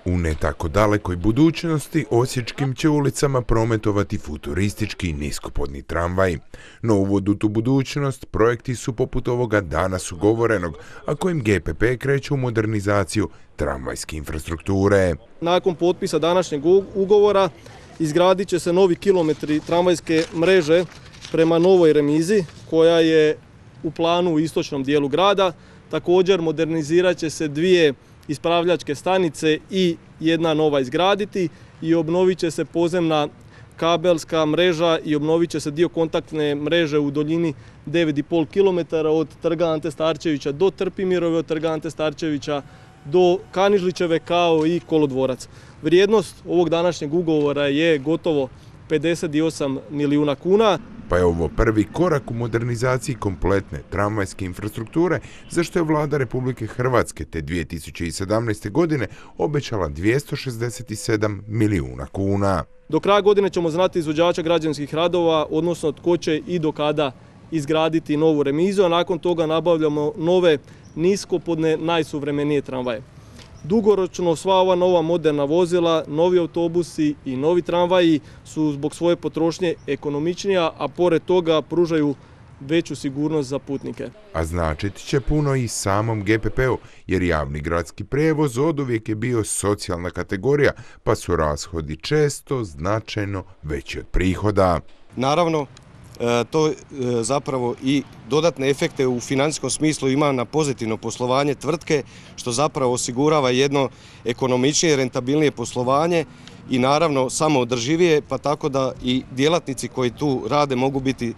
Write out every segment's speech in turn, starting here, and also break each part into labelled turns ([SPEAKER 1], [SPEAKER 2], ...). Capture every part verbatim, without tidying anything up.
[SPEAKER 1] U ne tako dalekoj budućnosti osječkim će ulicama prometovati futuristički niskopodni tramvaj. No uvod u tu budućnost projekti su poput ovoga danas ugovorenog, a kojim G P P kreće u modernizaciju tramvajske infrastrukture.
[SPEAKER 2] Nakon potpisa današnjeg ugovora izgradit će se novi kilometri tramvajske mreže prema novoj remizi koja je u planu u istočnom dijelu grada. Također modernizirat će se dvije ispravljačke stanice i jedna nova izgraditi i obnovit će se podzemna kabelska mreža i obnovit će se dio kontaktne mreže u duljini devet i pol kilometara od Trga Ante Starčevića do Trpimirove, od Trga Ante Starčevića do Kanižlićeve kao i kolodvorac. Vrijednost ovog današnjeg ugovora je gotovo pedeset osam milijuna kuna.
[SPEAKER 1] Pa je ovo prvi korak u modernizaciji kompletne tramvajske infrastrukture, za što je vlada Republike Hrvatske te dvije tisuće sedamnaeste. godine obećala dvjesto šezdeset sedam milijuna kuna.
[SPEAKER 2] Do kraja godine ćemo znati izvođača građevinskih radova, odnosno tko će i do kada izgraditi novu remizu, a nakon toga nabavljamo nove niskopodne najsuvremenije tramvaje. Dugoročno sva ova nova moderna vozila, novi autobusi i novi tramvaji su zbog svoje potrošnje ekonomičnija, a pored toga pružaju veću sigurnost za putnike.
[SPEAKER 1] A značit će puno i samom G P P-u, jer javni gradski prijevoz oduvijek je bio socijalna kategorija, pa su rashodi često značajno veći od prihoda.
[SPEAKER 3] Naravno, to zapravo i dodatne efekte u financijskom smislu ima na pozitivno poslovanje tvrtke, što zapravo osigurava jedno ekonomičnije, rentabilnije poslovanje i naravno samoodrživije, pa tako da i djelatnici koji tu rade mogu biti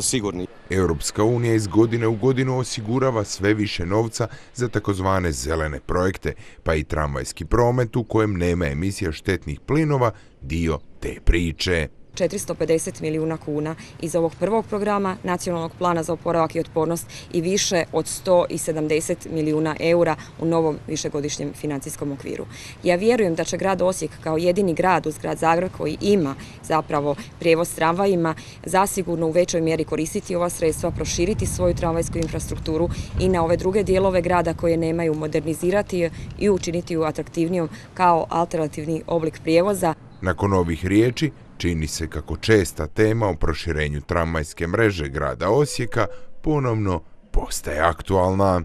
[SPEAKER 3] sigurni.
[SPEAKER 1] Europska unija iz godine u godinu osigurava sve više novca za takozvane zelene projekte, pa i tramvajski promet u kojem nema emisija štetnih plinova dio te priče.
[SPEAKER 4] četiristo pedeset milijuna kuna iz ovog prvog programa Nacionalnog plana za oporavak i otpornost i više od sto sedamdeset milijuna eura u novom višegodišnjem financijskom okviru. Ja vjerujem da će grad Osijek kao jedini grad uz grad Zagreb koji ima zapravo prijevoz tramvajima zasigurno u većoj mjeri koristiti ova sredstva, proširiti svoju tramvajsku infrastrukturu i na ove druge dijelove grada koje nemaju modernizirati i učiniti ju atraktivnijom kao alternativni oblik prijevoza.
[SPEAKER 1] Nakon ovih riječi, čini se kako česta tema o proširenju tramvajske mreže grada Osijeka ponovno postaje aktualna.